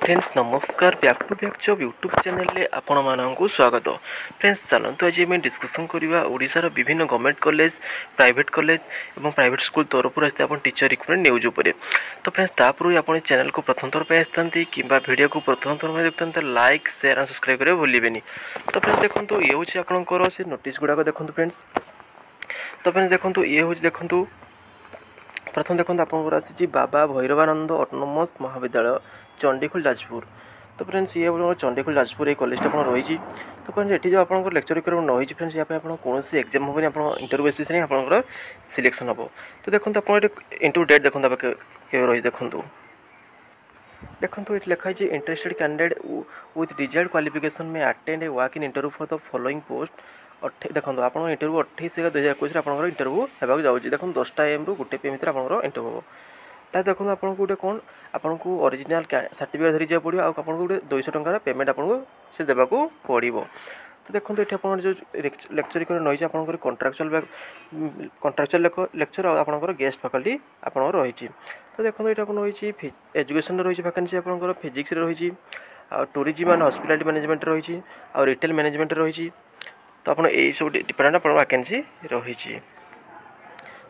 Friends, ନମସ୍କାର। Back to back job YouTube ଚ୍ୟାନେଲରେ ଆପଣମାନଙ୍କୁ ସ୍ୱାଗତ। ଫ୍ରେଣ୍ଡସ୍, ଚାଲନ୍ତୁ ଆଜି ଆମେ ଡିସ୍କସନ୍ କରିବା ଓଡ଼ିଶାର ବିଭିନ୍ନ ଗଭର୍ଣ୍ଣମେଣ୍ଟ କଲେଜ, ପ୍ରାଇଭେଟ୍ କଲେଜ ଏବଂ ପ୍ରାଇଭେଟ୍ ସ୍କୁଲ ତରଫରୁ ଆସିଥିବା ଆପଣ ଟିଚର ରିକ୍ରୁଟମେଣ୍ଟ ନ୍ୟୁଜ୍ ଉପରେ। ତ ଫ୍ରେଣ୍ଡସ୍, ତା ପୂର୍ବରୁ ଆପଣ ଚ୍ୟାନେଲକୁ ପ୍ରଥମ ଥର ପାଇଁ ଆସିଥାନ୍ତି କିମ୍ବା ଭିଡ଼ିଓକୁ ପ୍ରଥମ ଥର ପାଇଁ ଦେଖୁଥାନ୍ତି, ଲାଇକ୍, ସେୟାର ଆଣ୍ଡ ସବସ୍କ୍ରାଇବ୍ କରିବାକୁ ଭୁଲିବେନି। ତ ଫ୍ରେଣ୍ଡସ୍, ଦେଖନ୍ତୁ, ଇଏ ହେଉଛି ଆପଣଙ୍କର ସେ ନୋଟିସ୍ ଗୁଡ଼ାକ। ଦେଖନ୍ତୁ ଫ୍ରେଣ୍ଡସ୍। ତ ଫ୍ରେଣ୍ଡସ୍, ଦେଖନ୍ତୁ, ଇଏ ହେଉଛି, ଦେଖନ୍ତୁ, ପ୍ରଥମ ଦେଖନ୍ତୁ, ଆପଣଙ୍କର ଆସିଛି ବାବା ଭୈରବାନନ୍ଦ ଅଟୋନୋମସ୍ ମହାବିଦ୍ୟାଳୟ, ଚଣ୍ଡିଖୋଲ, ଯାଜପୁର। ତ ଫ୍ରେଣ୍ଡସ୍, ଇଏ ଆପଣଙ୍କର ଚଣ୍ଡିଖୋଲ, ଯାଜପୁର ଏଇ କଲେଜଟା ଆପଣ ରହିଛି। ତ ଫ୍ରେଣ୍ଡସ୍, ଏଠି ଯେଉଁ ଆପଣଙ୍କର ଲେକ୍ଚର ରିକ୍ରୁଟମେଣ୍ଟ ରହିଛି ଫ୍ରେଣ୍ଡସ୍, ୟା ପାଇଁ ଆପଣ କୌଣସି ଏକ୍ଜାମ୍ ହେବନି। ଆପଣ ଇଣ୍ଟରଭ୍ୟୁ ବେସିସ୍ରେ ହିଁ ଆପଣଙ୍କର ସିଲେକ୍ସନ୍ ହେବ। ତ ଦେଖନ୍ତୁ, ଆପଣ ଏଠି ଇଣ୍ଟରଭ୍ୟୁ ଡେଟ୍ ଦେଖନ୍ତୁ କେବେ ରହିଛି। ଦେଖନ୍ତୁ, ଦେଖନ୍ତୁ, ଏଠି ଲେଖା ହେଇଛି, "Interested candidate with desired qualification may attend a walk in interview for the following post." ଦେଖନ୍ତୁ, ଆପଣଙ୍କ ଇଣ୍ଟରଭ୍ୟୁ 28/11/2021ରେ ଆପଣଙ୍କର ଇଣ୍ଟରଭ୍ୟୁ ହେବାକୁ ଯାଉଛି। ଦେଖନ୍ତୁ, 10ଟା ଏଏମ୍ରୁ 1 ପି ଏମ୍ ଭିତରେ ଆପଣଙ୍କର ଇଣ୍ଟରଭ୍ୟୁ ହେବ। ତା ଦେଖନ୍ତୁ, ଆପଣଙ୍କୁ ଗୋଟେ କ'ଣ, ଆପଣଙ୍କୁ ଅରିଜିନାଲ୍ ସାର୍ଟିଫିକେଟ୍ ଧରି ଯିବାକୁ ପଡ଼ିବ ଆଉ ଆପଣଙ୍କୁ ଗୋଟେ 200 ଟଙ୍କାର ପେମେଣ୍ଟ ଆପଣଙ୍କୁ ସେ ଦେବାକୁ ପଡ଼ିବ। ତ ଦେଖନ୍ତୁ, ଏଠି ଆପଣଙ୍କର ଯେଉଁ ଲେକ୍ଚର ରହିଛି, ଆପଣଙ୍କର କଣ୍ଟ୍ରାକ୍ଚୁଆଲ୍ ଲେକ୍ଚର ଆଉ ଆପଣଙ୍କର ଗେଷ୍ଟ ଫାକଲ୍ଟି ଆପଣଙ୍କର ରହିଛି। ତ ଦେଖନ୍ତୁ, ଏଇଟା ଆପଣ ରହିଛି ଏଜୁକେସନ୍ରେ ରହିଛି ଭ୍ୟାକେନ୍ସି, ଆପଣଙ୍କର ଫିଜିକ୍ସରେ ରହିଛି ଆଉ ଟୁରିଜିମ୍ ଆଣ୍ଡ ହସ୍ପିଟାଲିଟି ମ୍ୟାନେଜମେଣ୍ଟ ରହିଛି ଆଉ ରିଟେଲ୍ ମ୍ୟାନେଜମେଣ୍ଟ ରହିଛି। ତ ଆପଣ ଏଇସବୁ ଡିପାର୍ଟମେଣ୍ଟ ଆପଣଙ୍କ ଭ୍ୟାକେନ୍ସି ରହିଛି।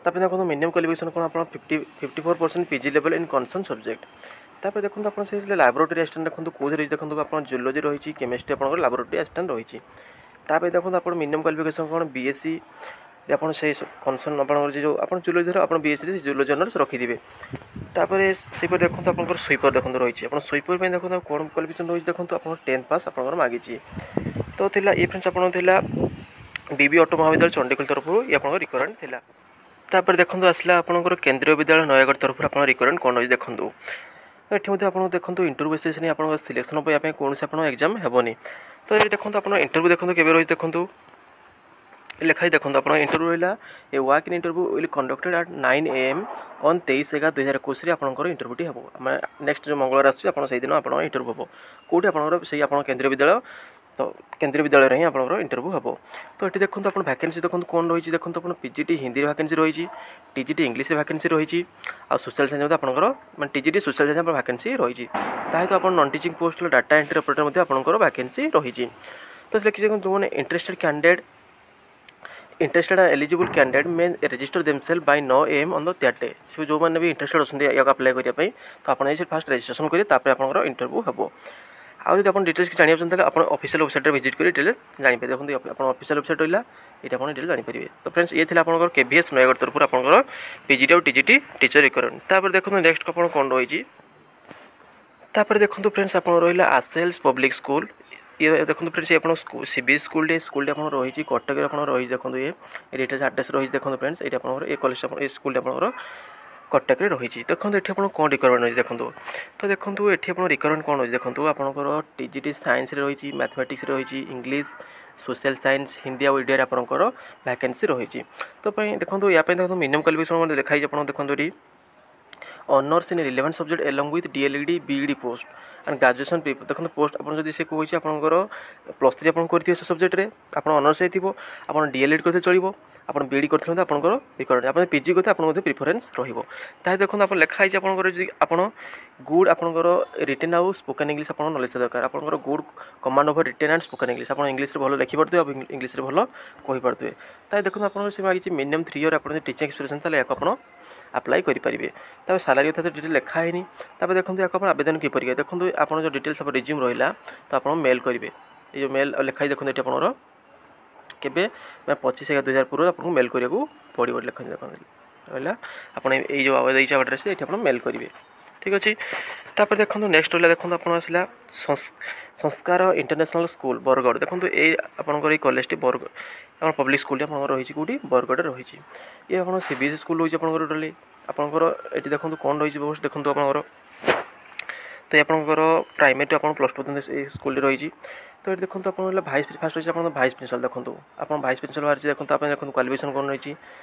ତାପରେ ଦେଖନ୍ତୁ, ମିନିମମ୍ କ୍ୱାଲିଫିକେସନ୍ କ'ଣ? ଆପଣ 54% PG level in concern subject। ତାପରେ ଦେଖନ୍ତୁ, ଆପଣ ସେ ଲାବୋରେଟୋରୀ ଆସିଷ୍ଟାଣ୍ଟ ଦେଖନ୍ତୁ କେଉଁଥିରେ ରହିଛି। ଦେଖନ୍ତୁ, ଆପଣ ଜୁଲୋଜି ରହିଛି, କେମିଷ୍ଟ୍ରି ଆପଣଙ୍କର ଲାବୋରେଟୋରୀ ଆସିଷ୍ଟାଣ୍ଟ ରହିଛି। ତାପରେ ଦେଖନ୍ତୁ, ଆପଣ ମିନିମମ୍ କ୍ୱାଲିଫିକେସନ୍ କ'ଣ? ବିଏସ୍ସି ଆପଣ ସେଇ କନସର୍ନ ଆପଣଙ୍କର ଯେଉଁ ଆପଣ ଜୁଲୋଜି ଧର ଆପଣ ବିଏସ୍ସିରେ ଜୁଲୋଜି ଅନର୍ସ ରଖିଥିବେ। ତାପରେ ସେହିପରି ଦେଖନ୍ତୁ, ଆପଣଙ୍କର ସୁଇପର ଦେଖନ୍ତୁ ରହିଛି। ଆପଣ ସୁଇପର ପାଇଁ ଦେଖନ୍ତୁ କ'ଣ କ୍ୱାଲିଫିକେସନ୍ ରହିଛି। ଦେଖନ୍ତୁ, ଆପଣ 10th pass ଆପଣଙ୍କର ମାଗିଛି। ତ ଥିଲା ଇଏ ଫ୍ରେଣ୍ଡସ୍, ଆପଣଙ୍କର ଥିଲା ବିବି ଅଟୋ ମହାବିଦ୍ୟାଳୟ, ଚଣ୍ଡିଖୋଲ ତରଫରୁ ଇଏ ଆପଣଙ୍କର ରିକ୍ୱାରମେଣ୍ଟ ଥିଲା। ତାପରେ ଦେଖନ୍ତୁ, ଆସିଲା ଆପଣଙ୍କର କେନ୍ଦ୍ରୀୟ ବିଦ୍ୟାଳୟ, ନୟାଗଡ଼ ତରଫରୁ ଆପଣଙ୍କ ରିକ୍ୱାରମେଣ୍ଟ କ'ଣ ରହିଛି ଦେଖନ୍ତୁ। ତ ଏଠି ମଧ୍ୟ ଆପଣ ଦେଖନ୍ତୁ, ଇଣ୍ଟରଭ୍ୟୁ ବେସିସ୍ରେ ଆପଣଙ୍କ ସିଲେକ୍ସନ୍ ହେବ। ପାଇଁ କୌଣସି ଆପଣଙ୍କ ଏକ୍ଜାମ୍ ହେବନି। ତ ଏଠି ଦେଖନ୍ତୁ, ଆପଣ ଇଣ୍ଟରଭ୍ୟୁ ଦେଖନ୍ତୁ କେବେ ରହିଛି। ଦେଖନ୍ତୁ, ଲେଖା ଦେଖନ୍ତୁ, ଆପଣଙ୍କ ଇଣ୍ଟରଭ୍ୟୁ ରହିଲା, "A walk in interview will conducted at 9 a.m. on 23/11/2021ରେ ଆପଣଙ୍କର ଇଣ୍ଟରଭ୍ୟୁଟି ହେବ। ମାନେ ନେକ୍ସଟ ଯେଉଁ ମଙ୍ଗଳବାର ଆସୁଛି, ଆପଣ ସେଇଦିନ ଆପଣଙ୍କ ଇଣ୍ଟରଭ୍ୟୁ ହେବ। କେଉଁଠି? ଆପଣଙ୍କର ସେଇ ଆପଣ କେନ୍ଦ୍ରୀୟ ବିଦ୍ୟାଳୟ। ତ କେନ୍ଦ୍ରୀୟ ବିଦ୍ୟାଳୟରେ ହିଁ ଆପଣଙ୍କର ଇଣ୍ଟରଭ୍ୟୁ ହେବ। ତ ଏଠି ଦେଖନ୍ତୁ, ଆପଣ ଭ୍ୟାକେନ୍ସି ଦେଖନ୍ତୁ କ'ଣ ରହିଛି। ଦେଖନ୍ତୁ, ଆପଣ ପି ଜି ଟି ହିନ୍ଦୀରେ ଭ୍ୟାକେନ୍ସି ରହିଛି, ଟି ଜି ଟି ଇଂଲିଶରେ ଭ୍ୟାକେନ୍ସି ରହିଛି ଆଉ ସୋସିଆଲ୍ ସାଇନ୍ସ ମଧ୍ୟ ଆପଣଙ୍କର, ମାନେ T G T social science ଆପଣ ଭ୍ୟାକେନ୍ସି ରହିଛି। ତା ସହିତ ଆପଣ non teaching post, data entry operator ମଧ୍ୟ ଆପଣଙ୍କର ଭ୍ୟାକେନ୍ସି ରହିଛି। ତ ସେ ଲେଖିଛି, ଦେଖନ୍ତୁ, ଯେଉଁମାନେ interested and eligible candidate may register themselves by 9 a.m. on the that day। ସେ ଯେଉଁମାନେ ବି ଇଣ୍ଟରେଷ୍ଟେଡ୍ ଅଛନ୍ତି ୟାକୁ ଆପ୍ଲାଏ କରିବା ପାଇଁ, ତ ଆପଣ ଯାଇ ଫାଷ୍ଟ ରେଜିଷ୍ଟ୍ରେସନ୍ କରିବେ, ତାପରେ ଆପଣଙ୍କର ଇଣ୍ଟରଭ୍ୟୁ ହେବ। ଆଉ ଯଦି ଆପଣ ଡିଟେଲ୍ସ କିଛି ଜାଣିବାକୁ ଚାହୁଁଛନ୍ତି, ତାହେଲେ ଆପଣ ଅଫିସିଆଲ୍ ୱେବସାଇଟ୍ରେ ଭିଜିଟ୍ କରି ଡିଟେଲ୍ସ ଜାଣିପାରିବେ। ଦେଖନ୍ତୁ, ଆପଣ ଅଫିସିଆଲ୍ ୱେବସାଇଟ୍ ରହିଲା ଏଇଟା, ଆପଣ ଡିଟେଲ୍ ଜାଣିପାରିବେ। ତ ଫ୍ରେଣ୍ଡସ୍, ଇଏ ଥିଲା ଆପଣଙ୍କର କେଭିଏସ୍ ନୟାଗଡ଼ ତରଫରୁ ଆପଣଙ୍କର ପିଜିଟି ଆଉ ଟିଜିଟି ଟିଚର ରିକ୍ୱାରମେଣ୍ଟ। ତାପରେ ଦେଖନ୍ତୁ, ନେକ୍ସଟ ଆପଣ କ'ଣ ରହିଛି। ତାପରେ ଦେଖନ୍ତୁ ଫ୍ରେଣ୍ଡସ୍, ଆପଣ ରହିଲା ଆସେଲ୍ସ ପବ୍ଲିକ୍ ସ୍କୁଲ। ଇଏ ଦେଖନ୍ତୁ ଫ୍ରେଣ୍ଡସ୍, ଇଏ ଆପଣ ସି ବି ସ୍କୁଲଟି, ସ୍କୁଲଟି ଆପଣ ରହିଛି କଟକରେ ଆପଣ ରହିଛି। ଦେଖନ୍ତୁ, ଇଏ ଡିଟେଲ୍ସ ଆଡ୍ରେସ୍ ରହିଛି। ଦେଖନ୍ତୁ ଫ୍ରେଣ୍ଡସ୍, ଏଇଠି ଆପଣଙ୍କର ଏ କଲେଜ, ଆପଣ ଏ ସ୍କୁଲଟି ଆପଣଙ୍କର କଟକରେ ରହିଛି। ଦେଖନ୍ତୁ, ଏଠି ଆପଣ କ'ଣ ରିକ୍ୱାରମେଣ୍ଟ ରହିଛି ଦେଖନ୍ତୁ। ତ ଦେଖନ୍ତୁ, ଏଠି ଆପଣ ରିକ୍ୱାରମେଣ୍ଟ କ'ଣ ରହିଛି ଦେଖନ୍ତୁ। ଆପଣଙ୍କର ଟି ଜି ଟି ସାଇନ୍ସରେ ରହିଛି, ମ୍ୟାଥମେଟିକ୍ସରେ ରହିଛି, ଇଂଲିଶ, ସୋସିଆଲ୍ ସାଇନ୍ସ, ହିନ୍ଦୀ ଆଉ ଓଡ଼ିଆରେ ଆପଣଙ୍କର ଭ୍ୟାକେନ୍ସି ରହିଛି। ତ ପାଇଁ ଦେଖନ୍ତୁ, ୟା ପାଇଁ ଦେଖନ୍ତୁ, ମିନିମମ୍ କ୍ୱାଲିଫିକେସନ୍ ଲେଖା ହେଇଛି। ଆପଣ ଦେଖନ୍ତୁ ଏଠି, honours in relevant subject along with D.El.Ed, B.Ed post and graduation। ଦେଖନ୍ତୁ, ପୋଷ୍ଟ ଆପଣ ଯଦି ସେ କହୁଛି, ଆପଣଙ୍କର +3 ଆପଣ କରିଥିବେ ସେ ସବଜେକ୍ଟରେ, ଆପଣ ଅନର୍ସ ହେଇଥିବ, ଆପଣ ଡିଏଲ୍ଇଡ଼ି କରିଥିଲେ ଚଳିବ, ଆପଣ ବିଇଡ଼ି କରିଥିଲେ ମଧ୍ୟ ଆପଣଙ୍କର ରିକ୍ୱାରମେଣ୍ଟ, ଆପଣ ପିଜି କରିଥିଲେ ଆପଣଙ୍କ ମଧ୍ୟ ପ୍ରିଫରେନ୍ସ ରହିବ। ତାହେଲେ ଦେଖନ୍ତୁ, ଆପଣ ଲେଖା ହେଇଛି, ଆପଣଙ୍କର ଯଦି ଆପଣ ଗୁଡ୍ ଆପଣଙ୍କର ରିଟେନ୍ ଆଉ ସ୍ପୋକେନ୍ ଇଂଲିଶ ଆପଣଙ୍କ ନଲେଜ୍ ଦରକାର। ଆପଣଙ୍କର good command over written and spoken English। ଆପଣ ଇଂଲିଶରେ ଭଲ ଲେଖିପାରୁଥିବେ ଆଉ ଇଂଲିଶରେ ଭଲ କହିପାରୁଥିବେ। ତାହେଲେ ଦେଖନ୍ତୁ, ଆପଣଙ୍କର ସେ ମାଗିଛି ମିନିମମ୍ 3 ଇୟର୍ ଆପଣ ଯଦି ଟିଚିଂ ଏକ୍ସପିରିଏନ୍ସ, ତାହେଲେ ଏହାକୁ ଆପଣ ଆପ୍ଲାଏ କରିପାରିବେ। ତାପରେ ସାଲାରୀ କଥା ତ ଡିଟେଲ୍ ଲେଖା ହେଇନି। ତାପରେ ଦେଖନ୍ତୁ, ଏହାକୁ ଆପଣ ଆବେଦନ କିପରି କରିବେ? ଦେଖନ୍ତୁ, ଆପଣ ଯେଉଁ ଡିଟେଲ୍ସ ଆପଣ ରିଜ୍ୟୁମ୍ ରହିଲା, ତ ଆପଣ ମେଲ୍ କରିବେ। ଏଇ ଯେଉଁ ମେଲ୍ ଲେଖା ହେଇଛି ଦେଖନ୍ତୁ ଏଠି, ଆପଣଙ୍କର କେବେ ନା 25/11/2000 ପୂର୍ବରୁ ଆପଣଙ୍କୁ ମେଲ୍ କରିବାକୁ ପଡ଼ିବ। ଲେଖନ୍ତୁ, ଦେଖନ୍ତୁ ରହିଲା, ଆପଣ ଏଇ ଯେଉଁ ଦେଇଛି ଆଡ୍ରେସ୍, ଏଇଠି ଆପଣ ମେଲ୍ କରିବେ। ଠିକ୍ ଅଛି। ତାପରେ ଦେଖନ୍ତୁ, ନେକ୍ସଟ ରହିଲା, ଦେଖନ୍ତୁ, ଆପଣ ଆସିଲା ସଂସ୍କାର ଇଣ୍ଟରନ୍ୟାସନାଲ୍ ସ୍କୁଲ, ବରଗଡ଼। ଦେଖନ୍ତୁ, ଏଇ ଆପଣଙ୍କର ଏଇ କଲେଜଟି ବରଗଡ଼, ଆପଣ ପବ୍ଲିକ୍ ସ୍କୁଲଟି ଆପଣଙ୍କର ରହିଛି କେଉଁଠି? ବରଗଡ଼ରେ ରହିଛି। ଇଏ ଆପଣ ସିବିଏସ୍ଇ ସ୍କୁଲ ରହୁଛି ଆପଣଙ୍କର ଟୋଟାଲି। ଆପଣଙ୍କର ଏଠି ଦେଖନ୍ତୁ କ'ଣ ରହିଛି ବ୍ୟବସ୍ଥା। ଦେଖନ୍ତୁ, ଆପଣଙ୍କର ତ ଆପଣଙ୍କର ପ୍ରାଇମେରୀ ଆପଣ +2 ପର୍ଯ୍ୟନ୍ତ ଏଇ ସ୍କୁଲଟି ରହିଛି। ତ ଏଠି ଦେଖନ୍ତୁ, ଆପଣ ହେଲା ଭାଇସ୍ ଫାଷ୍ଟ ରହିଛି ଆପଣଙ୍କ ଭାଇସ୍ ପ୍ରିନ୍ସିପାଲ୍। ଦେଖନ୍ତୁ, ଆପଣ ଭାଇସ୍ ପ୍ରିନ୍ସିପାଲ୍ ବାହାରିଛି। ଦେଖନ୍ତୁ, ଆପଣ ଦେଖନ୍ତୁ କ୍ୱାଲିଫିକେସନ୍ କ'ଣ ରହିଛି।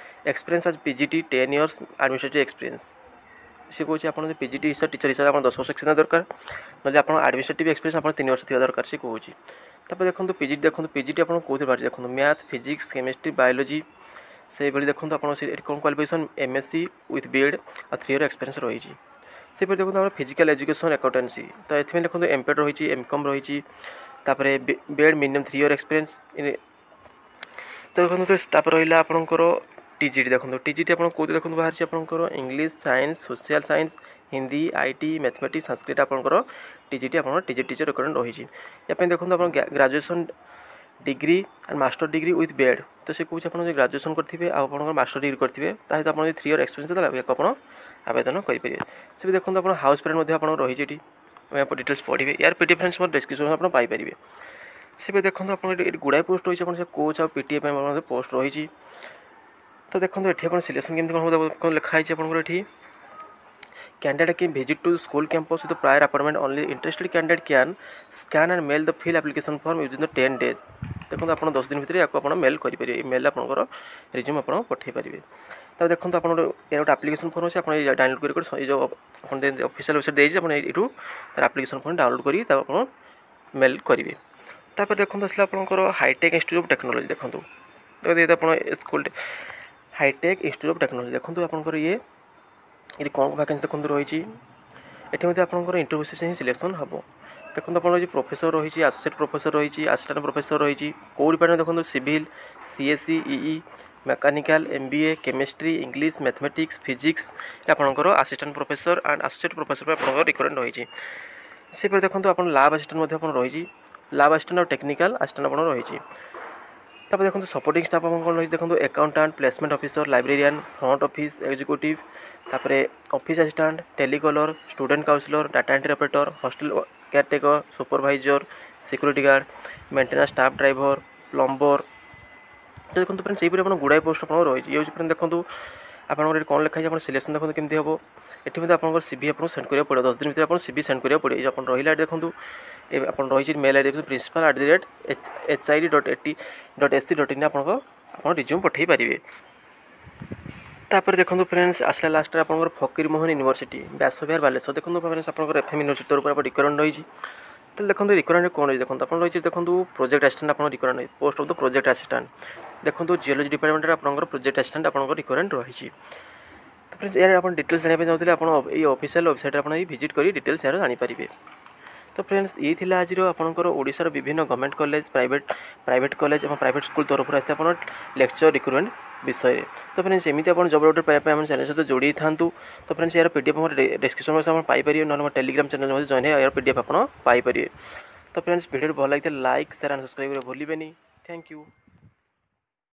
Experience as PGT 10 years administrative experience। ସେ କହୁଛି, ଆପଣ ଯଦି ପିଜିଟି ହିସାବ ଟିଚର ହିସାବରେ ଆପଣ 10 ବର୍ଷ ଏକ୍ସପିରିଏନ୍ସ ଦରକାର, ନହେଲେ ଆପଣ ଆଡ଼ମିନିଷ୍ଟ୍ରେଟିଭ୍ ଏକ୍ସପିରିଏନ୍ସ ଆପଣ 3 ବର୍ଷ ଥିବା ଦରକାର, ସେ କହୁଛି। ତାପରେ ଦେଖନ୍ତୁ, ପିଜିଟି ଦେଖନ୍ତୁ, ପିଜିଟି ଆପଣ କେଉଁଥିରେ ବାହାରିଛି ଦେଖନ୍ତୁ, ମ୍ୟାଥ୍, ଫିଜିକ୍ସ, କେମିଷ୍ଟ୍ରି, ବାୟୋଲୋଜି ସେଇଭଳି। ଦେଖନ୍ତୁ, ଆପଣ ସେ ଏଠି କ'ଣ qualification, MSc with B.Ed ଆଉ 3 ଇୟର୍ ଏକ୍ସପିରିଏନ୍ସ ରହିଛି। ସେପରି ଦେଖନ୍ତୁ, ଆମର ଫିଜିକାଲ୍ ଏଜୁକେସନ୍ ଆକାଉଣ୍ଟାନ୍ସି। ତ ଏଥିପାଇଁ ଦେଖନ୍ତୁ, ଏମ୍ପେଡ୍ ରହିଛି, ଏମ୍ କମ୍ ରହିଛି, ତାପରେ B.Ed, minimum 3 year experience। ତ ଦେଖନ୍ତୁ, ତାପରେ ରହିଲା ଆପଣଙ୍କର ଟିଜିଟି। ଦେଖନ୍ତୁ, ଟିଜିଟି ଆପଣ କେଉଁଠି ଦେଖନ୍ତୁ ବାହାରିଛି? ଆପଣଙ୍କର English, science, social science, Hindi, IT, mathematics, Sanskrit ଆପଣଙ୍କର ଟିଜିଟି, ଆପଣଙ୍କର ଟିଜିଟି ଟିଚର ରିକ୍ୱାରମେଣ୍ଟ ରହିଛି। ୟା ପାଇଁ ଦେଖନ୍ତୁ, ଆପଣ graduation degree and master degree with B.Ed। ତ ସେ କହୁଛି, ଆପଣ ଯଦି ଗ୍ରାଜୁଏସନ୍ କରିଥିବେ ଆଉ ଆପଣଙ୍କର ମାଷ୍ଟର ଡିଗ୍ରୀ କରିଥିବେ, ତା ସହିତ ଆପଣ ଯଦି 3 ଇୟର୍ ଏକ୍ସପିରିଏନ୍ସ, ତାହେଲେ ଏହାକୁ ଆପଣ ଆବେଦନ କରିପାରିବେ। ସେ ବି ଦେଖନ୍ତୁ, ଆପଣ ହାଉସ୍ ପ୍ୟାରେଣ୍ଟ ମଧ୍ୟ ଆପଣଙ୍କର ରହିଛି ଏଠି। ଆପଣ ଡିଟେଲ୍ସ ପଢ଼ିବେ। ୟାର ପିଡିଏଫ୍ ଫ୍ରେଣ୍ଡସ୍ ମୋର ଡିସ୍କ୍ରିପ୍ସନ୍ ଆପଣ ପାଇପାରିବେ। ସେବେ ଦେଖନ୍ତୁ, ଆପଣ ଏଠି ଗୁଡ଼ାଏ ପୋଷ୍ଟ ରହିଛି। ଆପଣ ସେ କୋଚ୍ ଆଉ ପିଟିଏ ପାଇଁ ମଧ୍ୟ ପୋଷ୍ଟ ରହିଛି। ତ ଦେଖନ୍ତୁ, ଏଠି ଆପଣ ସିଲେକ୍ସନ୍ କେମିତି କ'ଣ ହେବ, କ'ଣ ଲେଖା ହେଇଛି ଆପଣଙ୍କର ଏଠି? Candidate can visit to school campus with the prior appointment only. Interested candidate can scan and mail the fill application form within the 10 days. ଦେଖନ୍ତୁ, ଆପଣ 10 ଦିନ ଭିତରେ ୟାକୁ ଆପଣ ମେଲ୍ କରିପାରିବେ। ଏଇ ମେଲ୍ ଆପଣଙ୍କର ରିଜ୍ୟୁମ୍ ଆପଣ ପଠାଇ ପାରିବେ। ତାପରେ ଦେଖନ୍ତୁ, ଆପଣଙ୍କର ଏହାର ଗୋଟେ ଆପ୍ଲିକେସନ୍ ଫର୍ମ ଅଛି। ଆପଣ ଏଇ ଡାଉନଲୋଡ଼ କରି, ଏଇ ଯେଉଁ ଆପଣ ଅଫିସିଆଲ୍ ୱେବସାଇଟ୍ ଦେଇଛି, ଆପଣ ଏଇଠୁ ତାର ଆପ୍ଲିକେସନ୍ ଫର୍ମ ଡାଉନଲୋଡ଼ କରି ତାକୁ ଆପଣ ମେଲ୍ କରିବେ। ତାପରେ ଦେଖନ୍ତୁ, ଆସିଲା ଆପଣଙ୍କର ହାଇଟେକ୍ ଇନଷ୍ଟିଚ୍ୟୁଟ୍ ଅଫ୍ ଟେକ୍ନୋଲୋଜି। ଦେଖନ୍ତୁ ଦେଖନ୍ତୁ ଏଇଟା ଆପଣ school hi tech institute of technology. ଦେଖନ୍ତୁ, ଆପଣଙ୍କର ଇଏ ଏଠି କ'ଣ ଭ୍ୟାକେନ୍ସି ଦେଖନ୍ତୁ ରହିଛି। ଏଠି ମଧ୍ୟ ଆପଣଙ୍କର ଇଣ୍ଟରଭ୍ୟୁ ବେସିସ୍ ହିଁ ସିଲେକ୍ସନ୍ ହେବ। ଦେଖନ୍ତୁ, ଆପଣଙ୍କର ରହିଛି ପ୍ରଫେସର ରହିଛି, ଆସୋସିଏଟ୍ ପ୍ରଫେସର ରହିଛି, ଆସିଷ୍ଟାଣ୍ଟ ପ୍ରଫେସର ରହିଛି। କେଉଁ ଡିପାର୍ଟମେଣ୍ଟ ଦେଖନ୍ତୁ, civil, CSC, EE, mechanical, MBA, chemistry, English, mathematics, physics ଆପଣଙ୍କର assistant professor and associate professor ପାଇଁ ଆପଣଙ୍କର ରିକ୍ୱାରମେଣ୍ଟ ରହିଛି। ସେପରି ଦେଖନ୍ତୁ, ଆପଣ ଲାବ୍ ଆସିଷ୍ଟାଣ୍ଟ ମଧ୍ୟ ଆପଣ ରହିଛି, ଲାବ୍ ଆସିଷ୍ଟାଣ୍ଟ ଆଉ ଟେକ୍ନିକାଲ୍ ଆସିଷ୍ଟାଣ୍ଟ ଆପଣ ରହିଛି। ତାପରେ ଦେଖନ୍ତୁ, ସପୋର୍ଟିଂ ଷ୍ଟାଫ୍ ଆପଣ କ'ଣ ରହିଛି? ଦେଖନ୍ତୁ, accountant, placement officer, librarian, front office executive, ତାପରେ office assistant, telecaller, student counsellor, data entry operator, hostel caretaker, supervisor, security guard, maintenance staff, driver, plumber। ତ ଦେଖନ୍ତୁ ଫ୍ରେଣ୍ଡ, ସେହିପରି ଆପଣ ଗୁଡ଼ାଏ ପୋଷ୍ଟ ଆପଣଙ୍କର ରହିଛି। ଇଏ ହେଉଛି ଫ୍ରେଣ୍ଡ, ଦେଖନ୍ତୁ ଆପଣଙ୍କର ଏଠି କ'ଣ ଲେଖା ହେଇଛି। ଆପଣ ସିଲେକ୍ସନ୍ ଦେଖନ୍ତୁ କେମିତି ହେବ। ଏଠି ମଧ୍ୟ ଆପଣଙ୍କର ସିଭି ଆପଣଙ୍କୁ ସେଣ୍ଡ କରିବାକୁ ପଡ଼ିବ। 10 ଦିନ ଭିତରେ ଆପଣ ସିଭି ସେଣ୍ଡ କରିବାକୁ ପଡ଼ିବ। ଏଇ ଆପଣ ରହିଲା ଏଠି ଦେଖନ୍ତୁ, ଆପଣ ରହିଛି ମେଲ୍ ଆଇଡ଼ି। ଦେଖନ୍ତୁ, principal@hid.at.ac.in ଆପଣଙ୍କ ଆପଣ ରିଜ୍ୟୁମ୍ ପଠାଇ ପାରିବେ। ତାପରେ ଦେଖନ୍ତୁ ଫ୍ରେଣ୍ଡସ୍, ଆସିଲା ଲାଷ୍ଟରେ ଆପଣଙ୍କର ଫକୀରମୋହନ ୟୁନିଭର୍ସିଟି, ବ୍ୟାସବିହାର, ବାଲେଶ୍ୱର। ଦେଖନ୍ତୁ ଫ୍ରେଣ୍ଡସ୍, ଆପଣଙ୍କର ଏଫ୍ ଏମ୍ ୟୁନିଭର୍ସିଟି ତରଫରୁ ଆପଣ ରିକ୍ୱାରମେଣ୍ଟ ରହିଛି। ତାହେଲେ ଦେଖନ୍ତୁ, ରିକ୍ୱାରମେଣ୍ଟ କ'ଣ ରହିଛି? ଦେଖନ୍ତୁ, ଆପଣ ରହିଛି, ଦେଖନ୍ତୁ, ପ୍ରୋଜେକ୍ଟ ଆସିଷ୍ଟାଣ୍ଟ ଆପଣଙ୍କ ରିକ୍ୱାରମେଣ୍ଟ ରହିଛି, post of the project assistant। ଦେଖନ୍ତୁ, ଜିଓଲୋଜି ଡିପାର୍ଟମେଣ୍ଟରେ ଆପଣଙ୍କର ପ୍ରୋଜେକ୍ଟ ଆସିଷ୍ଟାଣ୍ଟ ଆପଣଙ୍କର ରିକ୍ୱାରମେଣ୍ଟ ରହିଛି। ତ ଫ୍ରେଣ୍ଡସ୍, ଏହାର ଆପଣ ଡିଟେଲ୍ସ ଜାଣିବା ପାଇଁ ଚାହୁଁଥିଲେ, ଆପଣ ଏଇ ଅଫିସିଆଲ୍ ୱେବସାଇଟ୍ରେ ଆପଣ ଏଇ ଭିଜିଟ୍ କରି ଡିଟେଲ୍ସ ଏହାର ଜାଣିପାରିବେ। ତ ଫ୍ରେଣ୍ଡସ୍, ଏଇ ଥିଲା ଆଜିର ଆପଣଙ୍କର ଓଡ଼ିଶାର ବିଭିନ୍ନ ଗଭର୍ଣ୍ଣମେଣ୍ଟ କଲେଜ, ପ୍ରାଇଭେଟ୍ କଲେଜ ଏବଂ ପ୍ରାଇଭେଟ୍ ସ୍କୁଲ୍ ତରଫରୁ ଆସିଥିବା ଆପଣ ଲେକ୍ଚର ରିକ୍ରୁଟମେଣ୍ଟ ବିଷୟରେ। ତ ଫ୍ରେଣ୍ଡସ୍, ଏମିତି ଆପଣ ଜବ୍ ଅପଡ଼େଟ୍ ପାଇବା ପାଇଁ ଆମ ଚ୍ୟାନେଲ୍ ସହିତ ଯୋଡ଼ି ହେଇଥାନ୍ତୁ। ତ ଫ୍ରେଣ୍ଡସ୍, ଏହାର ପିଡିଏଫ୍ ମୋର ଡିସ୍କ୍ରିପ୍ସନ୍ ବକ୍ସ ଆପଣ ପାଇପାରିବେ, ନହେଲେ ମୋ ଟେଲିଗ୍ରାମ ଚ୍ୟାନେଲ୍ ମଧ୍ୟ ଜଏନ୍ ହେଇ ଏହାର ପିଡିଏଫ୍ ଆପଣ ପାଇପାରିବେ। ତ ଫ୍ରେଣ୍ଡସ୍, ଭିଡ଼ିଓଟି ଭଲ ଲାଗିଥିଲେ ଲାଇକ୍, ସେୟାର ଆଣ୍ଡ ସବସ୍କ୍ରାଇବ୍ କରିବାକୁ ଭୁଲିବେନି। Thank you.